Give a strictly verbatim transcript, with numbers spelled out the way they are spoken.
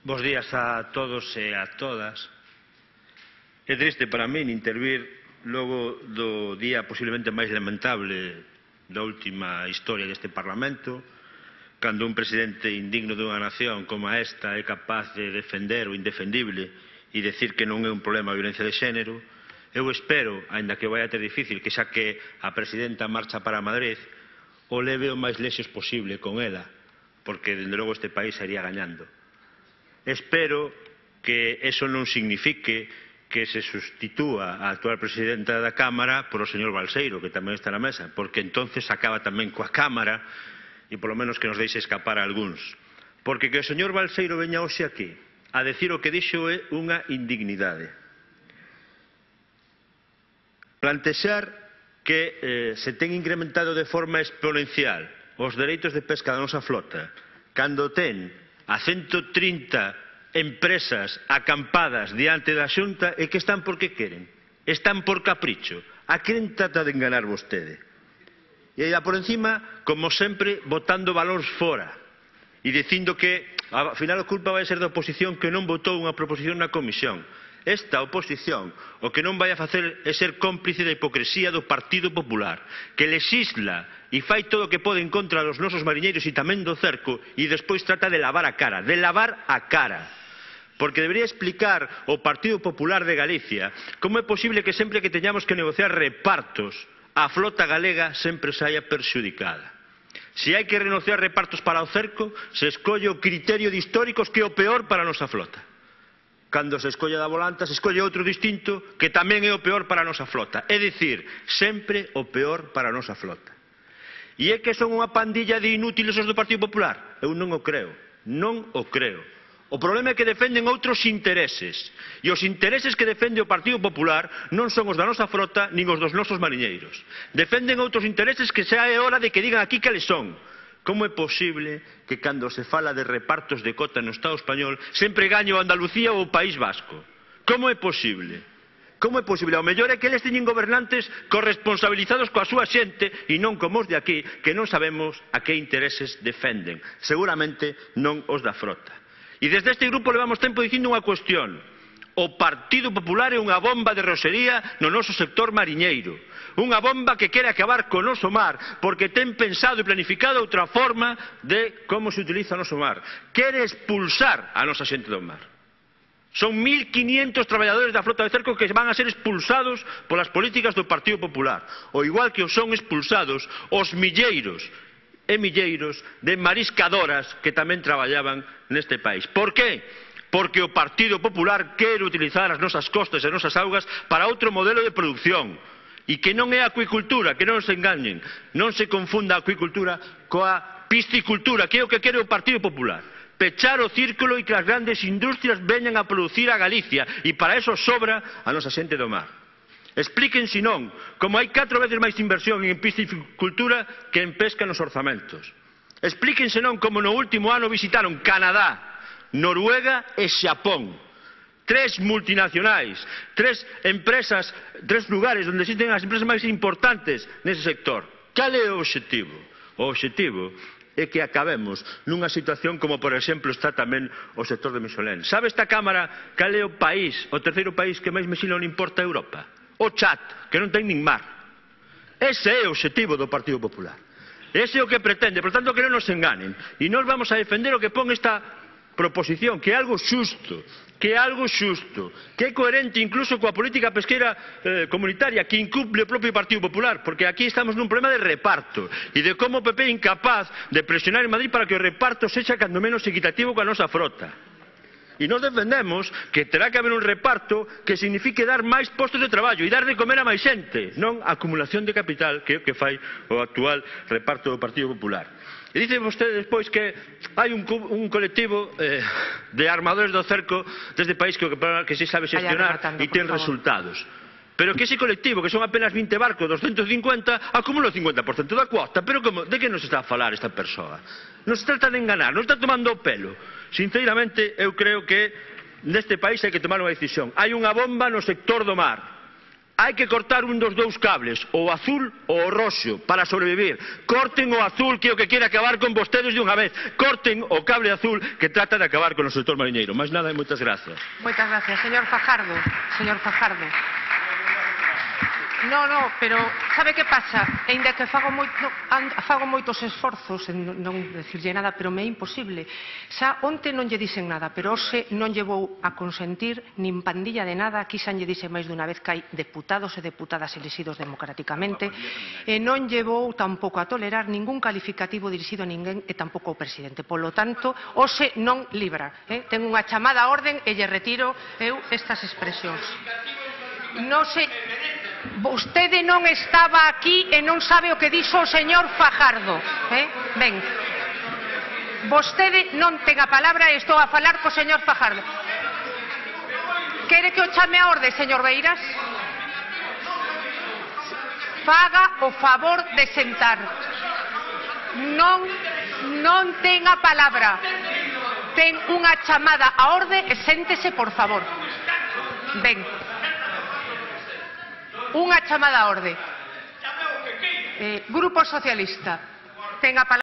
Bos días a todos e a todas. É triste para min intervir logo do día posiblemente máis lamentable da última historia deste Parlamento, cando un presidente indigno dunha nación como esta é capaz de defender o indefendible e decir que non é un problema a violencia de xénero. Eu espero, aínda que vai a ter difícil, que xa que a presidenta marcha para Madrid, o leve o máis lexos posible con ela, porque, dende logo, este país iría gañando. Espero que eso non signifique que se sustitúa a actual presidenta da Cámara por o señor Balseiro, que tamén está na mesa, porque entonces acaba tamén coa Cámara e polo menos que nos deixe escapar a algúns. Porque que o señor Balseiro veña hoxe aquí a decir o que dixo é unha indignidade. Plantexar que eh, se ten incrementado de forma exponencial os dereitos de pesca da nosa flota, cando ten a ciento trinta empresas acampadas diante da Xunta, e que están porque queren, están por capricho. A quen trata de enganar vostede? E aí por encima, como sempre, botando valores fora e dicindo que, ao final, a culpa vai ser da oposición que non votou unha proposición na comisión. Esta oposición o que non vai a facer é ser cómplice da hipocresía do Partido Popular, que lexisla e fai todo o que pode en contra dos nosos mariñeiros e tamén do cerco, e despois trata de lavar a cara, de lavar a cara. Porque debería explicar o Partido Popular de Galicia como é posible que sempre que teñamos que negociar repartos, a flota galega sempre saia perxudicada. Se hai que renunciar repartos para o cerco, se escolle o criterio de históricos, que é o peor para a nosa flota. Cando se escolle da volanta, se escolle outro distinto que tamén é o peor para a nosa flota. É dicir, sempre o peor para a nosa flota. E é que son unha pandilla de inútiles os do Partido Popular? Eu non o creo, non o creo. O problema é que defenden outros intereses, e os intereses que defende o Partido Popular non son os da nosa frota nin os dos nosos mariñeiros. Defenden outros intereses que xa é hora de que digan aquí cales son. Como é posible que cando se fala de repartos de cota no Estado español sempre gañe o Andalucía ou o País Vasco? Como é posible? Como é posible? Ao mellor é que eles teñen gobernantes corresponsabilizados coa súa xente e non como os de aquí, que non sabemos a que intereses defenden. Seguramente non os da frota. E desde este grupo levamos tempo dicindo unha cuestión. O Partido Popular é unha bomba de rosería no noso sector mariñeiro. Unha bomba que quere acabar co noso mar, porque ten pensado e planificado outra forma de como se utiliza o noso mar. Quere expulsar a nosa xente do mar. Son mil quinientos traballadores da flota de cerco que van a ser expulsados polas políticas do Partido Popular. O igual que os son expulsados os milleiros e milleiros de mariscadoras que tamén traballaban neste país. Por que? Porque o Partido Popular quere utilizar as nosas costas e as nosas augas para outro modelo de produción. E que non é a acuicultura, que non se engañen, non se confunda a acuicultura coa piscicultura, que é o que quere o Partido Popular. Pechar o círculo e que as grandes industrias veñan a producir a Galicia, e para eso sobra a nosa xente do mar. Expliquen, senón, como hai catro veces máis inversión en piscicultura que en pesca nos orzamentos. Expliquen, senón, como no último ano visitaron Canadá, Noruega e Xapón. Tres multinacionais, tres empresas, tres lugares onde existen as empresas máis importantes nese sector. Cal é o obxectivo? O obxectivo é que acabemos nunha situación como, por exemplo, está tamén o sector de Michelin. Sabe esta Cámara cal é o país, o terceiro país que máis Michelin importa a Europa? O Chad, que non ten nin mar. Ese é o obxectivo do Partido Popular. Ese é o que pretende, por tanto, que non nos enganen. E nós vamos a defender o que pon esta proposición, que é algo xusto, que é algo xusto, que é coherente incluso coa política pesqueira eh, comunitaria, que incumple o propio Partido Popular, porque aquí estamos nun problema de reparto e de como o P P é incapaz de presionar en Madrid para que o reparto sexa cando menos equitativo coa nosa frota. E nós defendemos que terá que haber un reparto que signifique dar máis postos de traballo e dar de comer a máis xente, non a acumulación de capital, que é o que fai o actual reparto do Partido Popular. E dice vostede despois que hai un, un colectivo eh, de armadores do cerco deste país que, que se sabe xestionar e ten resultados. Pero que ese colectivo, que son apenas vinte barcos, doscientos cincuenta, acumula o cincuenta por cento da cuota. Pero como, de que nos está a falar esta persoa? Nos trata de enganar, nos está tomando o pelo. Sinceramente, eu creo que neste país hai que tomar unha decisión. Hai unha bomba no sector do mar. hai que cortar un dos dous cables, o azul ou o roxo, para sobrevivir. Corten o azul, que é o que quere acabar con vostedes de unha vez. Corten o cable azul que trata de acabar con o sector mariñeiro. Máis nada e moitas gracias. Moitas gracias. Señor Fajardo. Señor Fajardo. No, no, pero sabe que pasa? Ainda que fago, moito, fago moitos esforzos en non decirlle nada, pero me é imposible. Xa onte non lle dixen nada, pero hoxe non lle vou a consentir nin pandilla de nada. Aquí xa lle dixen máis dunha vez que hai deputados e deputadas elexidos democráticamente, e non lle vou tampouco a tolerar ningún calificativo dirixido a ninguén e tampouco ao presidente. Polo tanto, hoxe non libra. Eh? Ten unha chamada a orden e lle retiro eu estas expresións. Non se... Vostede non estaba aquí e non sabe o que dixo o señor Fajardo. Eh? Ben, vostede non ten a palabra e estou a falar co señor Fajardo. Quere que o chame a orde, señor Beiras? Faga o favor de sentar. Non, non ten a palabra. Ten unha chamada a orde e séntese, por favor. Ben. Unha chamada a orde. Eh, Grupo Socialista, ten a palabra.